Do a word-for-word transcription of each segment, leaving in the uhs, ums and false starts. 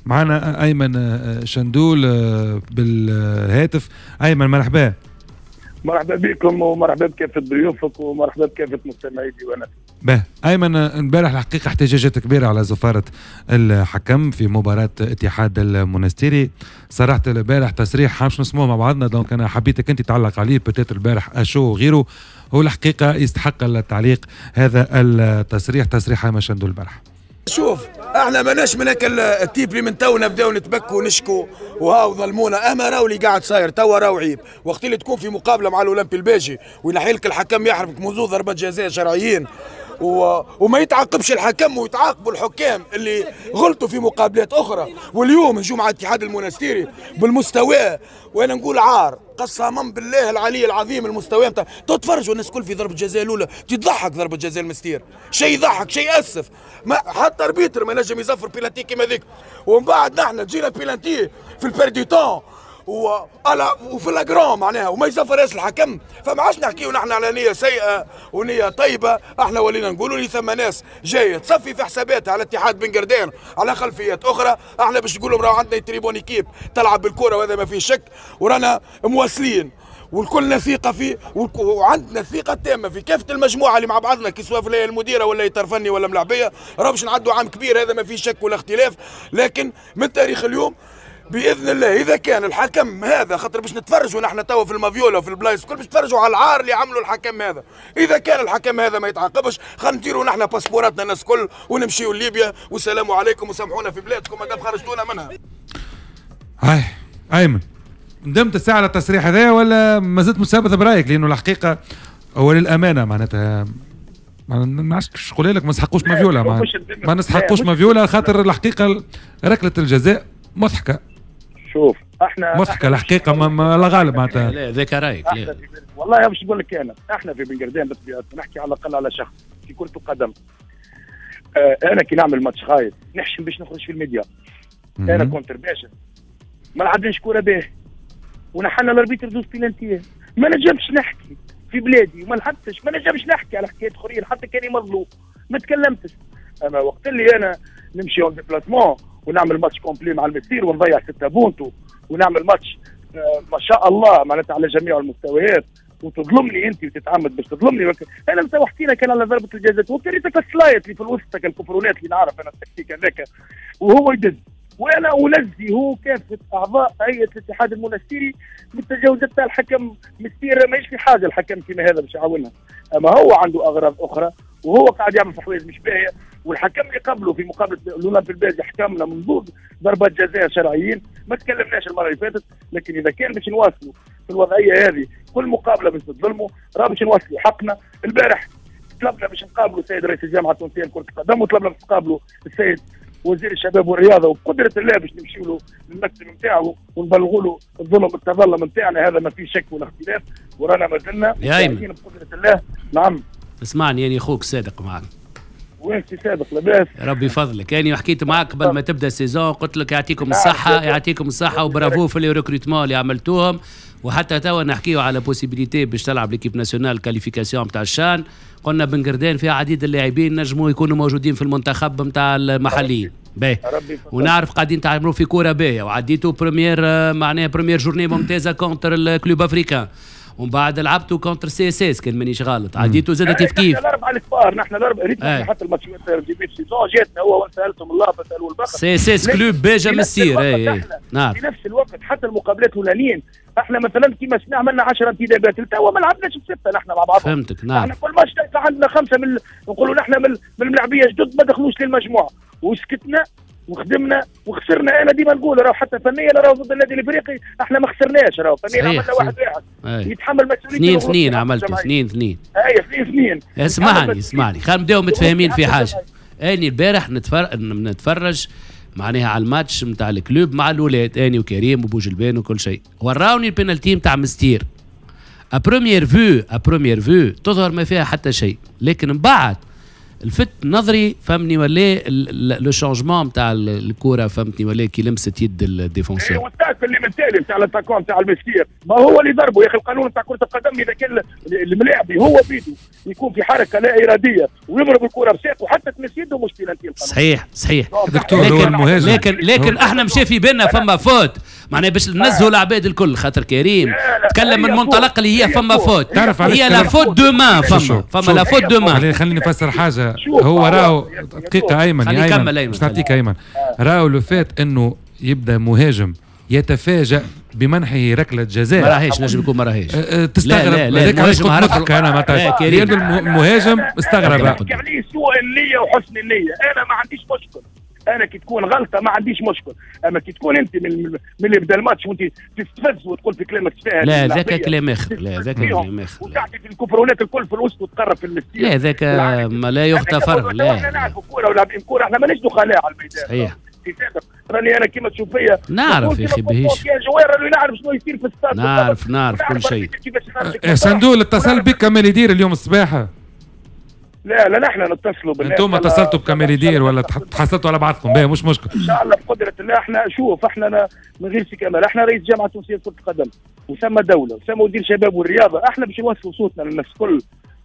معنا ايمن شندول بالهاتف. ايمن مرحبا. مرحبا بكم ومرحبا بكافة ضيوفك ومرحبا بكافة مستمعي ديوانك. به ايمن، امبارح الحقيقة احتجاجات كبيرة على زفاره الحكم في مباراة اتحاد المونستيري. صراحة البارح تصريح باش نسمعوه مع بعضنا، donc انا حبيتك انت تعلق عليه peut-être البارح à chaud وغيره، هو الحقيقة يستحق التعليق هذا التصريح، تصريح ايمن شندول البارح. شوف احنا ماناش من هاك ال type اللي من تو نبداو نتبكوا ونشكوا وهاو ظلمونا، اما راهو اللي قاعد صاير توا راهو عيب. وقت اللي تكون في مقابله مع الاولمبي الباجي وينحي لك الحكم يحرمك منذ ضربات جزاء شرعيين و... وما يتعاقبش الحكم ويتعاقبوا الحكام اللي غلطوا في مقابلات اخرى، واليوم نجوا مع الاتحاد المونستيري بالمستوى، وانا نقول عار قسما بالله العلي العظيم المستوى نتاع تتفرجوا الناس الكل في ضربه جزاء الاولى تضحك، ضربه جزاء المستير شيء يضحك شيء ياسف، ما حتى arbitre ما نجم يزفر بيلانتي كيما ذيك. ومن بعد نحن تجينا بيلانتي في ال perte de temps و وفي flagrant معناها وما يزفرهاش الحكم، فما عادش نحكيو نحن على نيه سيئه ونيه طيبة، احنا ولينا نقولوا لي ثم ناس جاية تصفي في حساباتها على اتحاد بن قردان على خلفيات اخرى. احنا باش نقول لهم راهو عندنا très bonne équipe تلعب بالكرة وهذا ما فيه شك، ورانا مواصلين والكلنا ثقة فيه وعندنا الثقة التامة في كافة المجموعة اللي مع بعضنا كي سواء في المديرة ولا اطار فني ولا ملاعبيه، راه باش نعدوا عام كبير هذا ما فيه شك ولا اختلاف. لكن من تاريخ اليوم باذن الله اذا كان الحكم هذا، خاطر باش نتفرجوا نحن توا في المافيولا وفي البلايص الكل باش نتفرجوا على العار اللي عملوا الحكم هذا، اذا كان الحكم هذا ما يتعاقبش خلينا نديروا نحن باسبوراتنا الناس الكل ونمشيوا لليبيا والسلام عليكم وسامحونا في بلادكم ما دام خرجتونا منها. هاي ايمن، ندمت الساعة على التصريح هذا ولا ما زلت مثابت برايك؟ لانه الحقيقة هو للامانة معناتها ما نعرفش نقول لك ما نسحقوش مافيولا، ما, ما نسحقوش مافيولا خاطر الحقيقة ركلة الجزاء مضحكة. شوف احنا مضحكة الحقيقة ما لا غالب معناتها. لا ذاك رايك. والله باش نقول لك انا احنا في بن قردان بالطبيعة نحكي على الاقل على شخص في كره القدم. آه انا كي نعمل ماتش خايب نحشم باش نخرج في الميديا. انا contre باجة ما لعبناش كورة به ونحنا ال arbitre زوز بيلانتيه، ما نجمش نحكي في بلادي وما لعبتش، ما نجمش نحكي على حكاية اخرين حتى كان مظلوم ما تكلمتش. اما وقت اللي انا نمشي en déplacement ونعمل match complet مع المستير ونضيع ستة بونتو ونعمل ماتش آه ما شاء الله معناتها على جميع المستويات وتظلمني انت وتتعمد باش تظلمني. انا تو حكينا كان على ضربه الجزاء وكريتك السلايط اللي في الوسط الكفرونات اللي نعرف انا التكتيك هذاك وهو يدز، وانا انزه هو كافة اعضاء هيئة الاتحاد المونستيري من التجاوزات تاع الحكم مستير، ماهيش في حاجة الحكم كيما هذا باش يعاونها، اما هو عنده اغراض اخرى وهو قاعد يعمل في حوايج مش باهيه. والحكم اللي قبله في مقابله الاولمبي الباجي حكمنا من ضربات جزاء شرعيين ما تكلمناش المرة اللي فاتت. لكن اذا كان باش نواصلوا في الوضعية هذه كل مقابله باش تظلموا راه باش نواصلوا حقنا. البارح طلبنا باش نقابلوا السيد رئيس الجامعة التونسية لكرة القدم وطلبنا باش نقابلوا السيد وزير الشباب والرياضة وبقدره الله باش نمشيو له للمكتب نتاعو ونبلغوا له الظلم التظلم نتاعنا، هذا ما فيه شك ولا اختلاف ورانا ما زلنا بقدره الله. نعم اسمعني يعني اخوك صادق معك. وين سي صادق لاباس؟ ربي يفضلك. يعني حكيت معك قبل ما تبدا ال saison قلت لك يعطيكم الصحة يعطيكم الصحة وبرافو في les recrutements اللي عملتوهم، وحتى توا نحكيو على possibilité باش تلعب l'équipe nationale qualification نتاع الشان. قلنا بن قردان فيها عديد اللاعبين نجموا يكونوا موجودين في المنتخب نتاع المحليين. باهي ونعرف قاعدين تعملوا في كورة باهيه وعديتوا première معناها première journée ممتازة contre ال Club Africain ومن بعد لعبتوا contre CSS كان مانيش غلط عديتوا زاد كيف كيف. نحن الاربعة الكبار نحن الاربعة ريتنا حتى الماتشات début saison جاتنا هو وسالتهم الله فسالوا البقر CSS Club باجا مسير. اي نعم في نفس الوقت حتى المقابلات الاولانيين احنا مثلا كيما سمعنا عملنا عشرة انتدابات توا ما لعبناش بسته نحن مع بعضنا. فهمتك نعم. احنا كل ماتش عندنا خمسة من نقولوا نحن من الملاعبيه جدد ما دخلوش للمجموعة وسكتنا وخدمنا وخسرنا. انا ديما نقول راهو حتى فنيا راهو ضد النادي الافريقي احنا ما خسرناش، راهو فنيا عملنا واحد واحد يتحمل مسؤوليته. اثنين اثنين عملتوا اثنين اثنين. اي اثنين اثنين. اسمعني اسمعني خلينا نبداو متفاهمين في حاجة. اني البارح نتفرج نتفرج معناها على الماتش نتاع ال Club مع الاولاد اني وكريم وبوجلبان وكل شيء، وراوني البينالتي نتاع مستير. à première vue à première vue تظهر ما فيها حتى شيء، لكن من بعد الفت نظري فهمني ولا le changement نتاع الكورة فهمتني ولا كي لمست يد ال défenseur. وال tacle ال tacle اللي من التالي نتاع l'attaquant نتاع المسكير، ما هو اللي ضربه يا اخي. القانون نتاع كره القدم اذا كان الملاعب هو بيده يكون في حركة لا ارادية ويضرب الكره بساقه وحتى تمس يده مش بينالتي. صحيح صحيح دكتور. هو المهاجم، لكن لكن احنا مشى في بالنا فما faute، معناها باش ننزهوا العباد الكل، خاطر كريم تكلم من منطلق اللي هي فما faute، تعرف هي la faute de main، فما فما la faute de main. خليني نفسر حاجة، هو راهو دقيقة ايمن، يا ايمن باش نعطيك ايمن، راهو le fait انه يبدا مهاجم يتفاجأ بمنحه ركلة جزاء ما راهيش، نجم يكون ما راهيش. تستغرب هذاك علاش كنت نضحك انا معناتها، لأن المهاجم استغرب. نحكي عليه سوء النية وحسن النية، انا ما عنديش مشكل، انا كي تكون غلطه ما عنديش مشكل، اما كي تكون انت من من اللي بدا الماتش وانت تستفز وتقول في كلامك ساهل، لا ذاك كلام اخر، لا ذاك كلام اخر، وتعطي في الكفرونات الكل في الوسط وتقرب في المستير، لا ذاك ما لا يغتفر. لا احنا نعرفوا كورة ولاعبين كورة، احنا ماناش دخلاء على الميدان. صحيح راني انا كيما تشوف فيا نعرف يا اخي بهيش كان joueur راني نعرف شنو يصير في الستاد، نعرف نعرف كل شيء. صندوق اتصل بك كمال يدير اليوم الصباح؟ لا لا نحن نتصلوا بالناس. انتم اتصلتوا بكمال يدير ولا تحصلتوا على بعضكم؟ باهي مش مشكل. ان شاء الله بقدره الله. احنا شوف احنا من غير سي كمال، احنا رئيس جامعه تونسية لكرة القدم وسمى دولة وسمى وزير شباب والرياضة، احنا باش نوصلوا صوتنا للناس الكل،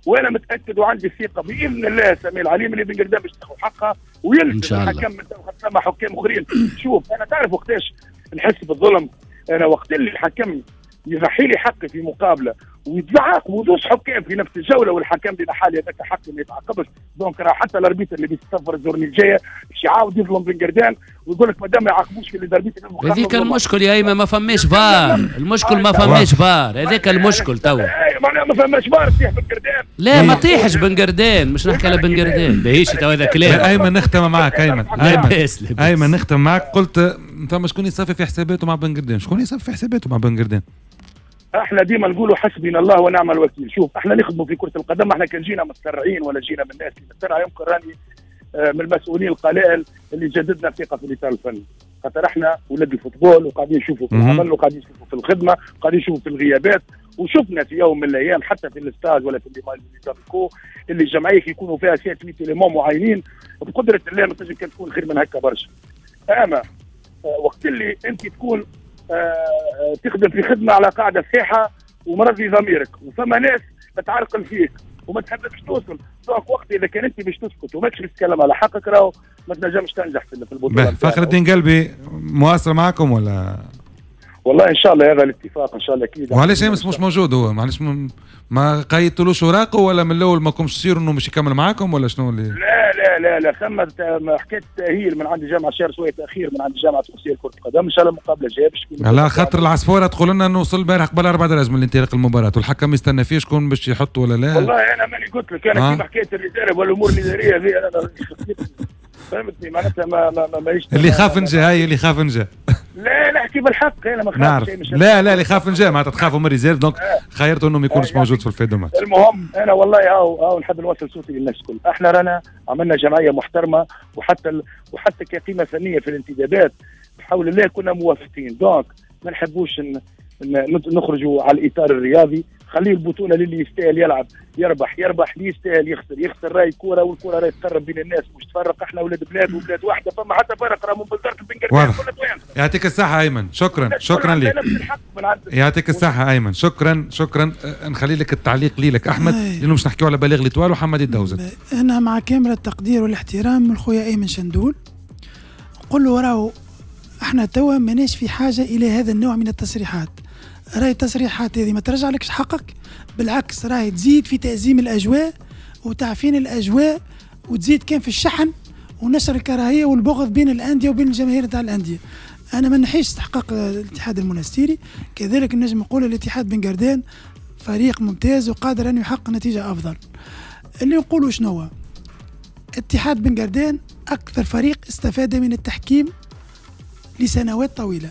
وانا متاكد وعندي الثقة باذن الله سميع العليم اللي بن قردان باش تاخذ حقها ويلزم الحكم من ثم حكام اخرين. شوف انا تعرف وقتاش نحس بالظلم؟ انا وقت اللي الحكم يضحي لي حقي في مقابله ويتزعق وزوج حكام في نفس الجولة والحكم اللي نحالي هذاك حقي ما يتعاقبش، donc راه حتى l'arbitre اللي بيسافر ال journée الجاية باش يعاود يظلم بن قردان ويقول لك مادام ما يعاقبوش في l'arbitre. هذيك المشكل يا ايمن، ما فماش فار، المشكل ما فماش فار، هذاك المشكل توا. معناها ما فماش فار تطيح بن قردان. لا ما طيحش بن قردان، مش نحكي على بن قردان، باهيش توا هذا كلام. ايمن نختم معك ايمن، ايمن ايمن نختم معك. قلت فما شكون يصفي في حساباته مع بن قردان، شكون يصفي في حساباته مع بن قردان؟ احنا ديما نقولوا حسبنا الله ونعم الوكيل. شوف احنا نخدموا في كرة القدم، احنا كان جينا متسرعين ولا جينا من الناس اللي متسرعه، يمكن راني من المسؤولين القلائل اللي جددنا الثقة في الاطار الفني، خاطر احنا ولاد ال football وقاعدين نشوفوا في العمل وقاعدين نشوفوا في الخدمة وقاعدين نشوفوا في الغيابات، وشفنا في يوم من الايام حتى في الاستاج ولا في les amicaux اللي الجمعية يكونوا فيها sept huit éléments معينين، بقدره الله ما تنجم كان تكون خير من هكا برشا. اما وقت اللي انت تكون آه تخدم في خدمة على قاعدة صحيحه ومرضي ضميرك وفما ناس تعرقل فيك وما تحبش توصل، donc وقت اذا كان انت باش تسكت وماكش باش تتكلم على حقك راهو ما تنجمش تنجح في البطولة. فخر الدين قلبي مواصل معكم ولا؟ والله ان شاء الله هذا الاتفاق ان شاء الله اكيد. وعلاش امس مش موجود هو؟ معلش ما قيدتلوش اوراقه ولا من الاول ما كنتش تصير انه مش يكمل معاكم ولا شنو اللي؟ لا لا لا لا ثم حكاية تاهيل من عند الجامعة شهر شوية تاخير من عند الجامعة التونسية لكرة القدم، ان شاء الله المقابلة الجاية باش تكون. على خاطر العصفوره تقول لنا انه وصل البارح قبل اربع دراج من انطلاق المباراة والحكم يستنى فيه شكون باش يحط ولا لا؟ والله انا ماني قلت لك انا آه. كيما حكاية ال réserve والامور الادارية هذه انا فهمتني معناتها ما ما ماهيش اللي خاف نجا، هاي اللي خاف نجا. لا نحكي بالحق انا ما خافش. لا لا اللي خاف نجا معناتها تخافوا من réserve، donc خيرته انه ما يكونش موجود في ال fin de match. المهم انا والله هاو هاو نحب نوصل صوتي للناس الكل، احنا رانا عملنا جمعية محترمه وحتى ال... وحتى كقيمه فنية في الانتدابات بحول الله كنا موافقين، donc ما نحبوش ن... نخرجوا على الاطار الرياضي، خليه البطولة للي يستاهل يلعب يربح يربح، اللي يستاهل يخسر يخسر، راي كورة والكوره راي تقرب بين الناس مش تفرق، احنا ولاد بلاد وبلاد واحدة فما حتى فرق راه من بلدرة البنقردان كلنا توانسة. يعطيك الصحة ايمن، شكرا شكرا لك. يعطيك الصحة ايمن، شكرا شكرا. نخلي لك التعليق ليلك احمد لانه باش نحكيو على بلاغ l'Étoile وحمادي الدوزت. انا مع كامل التقدير والاحترام من خويا ايمن شندول نقول له راهو احنا توا ماناش في حاجة الى هذا النوع من التصريحات. راهي التصريحات هذه ما ترجع لكش حقك، بالعكس راهي تزيد في تأزيم الأجواء وتعفين الأجواء وتزيد كان في الشحن ونشر الكراهية والبغض بين الأندية وبين الجماهير تاع الأندية. أنا ما نحيش استحقاق الاتحاد المونستيري، كذلك نجم نقول الاتحاد بن قردان فريق ممتاز وقادر أن يحقق نتيجة أفضل. اللي نقوله شنو هو؟ اتحاد بن قردان أكثر فريق استفاد من التحكيم لسنوات طويلة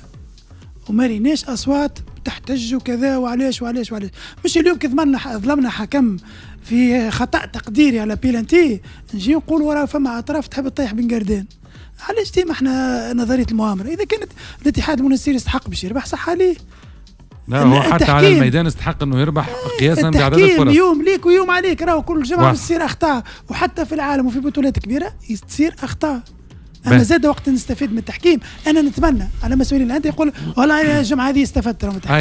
وما ريناش أصوات تحتج وكذا وعلاش وعلاش وعلاش. مش اليوم كي ظلمنا حكم في خطأ تقديري على بيلانتي نجي نقول وراه فما أطراف تحب تطيح بن قردان. علاش ديما احنا نظرية المؤامرة؟ إذا كانت الاتحاد المونستيري يستحق باش يربح صح عليه. لا هو حتى على الميدان استحق انه يربح قياسا بعدد الفرص. يوم ليك ويوم عليك، راهو كل جمعة تصير أخطاء، وحتى في العالم وفي بطولات كبيرة تصير أخطاء. اما زاد وقت نستفيد من التحكيم، انا نتمنى على مسؤولين الاندية يقول والله الجمعة هذه استفدت من التحكيم.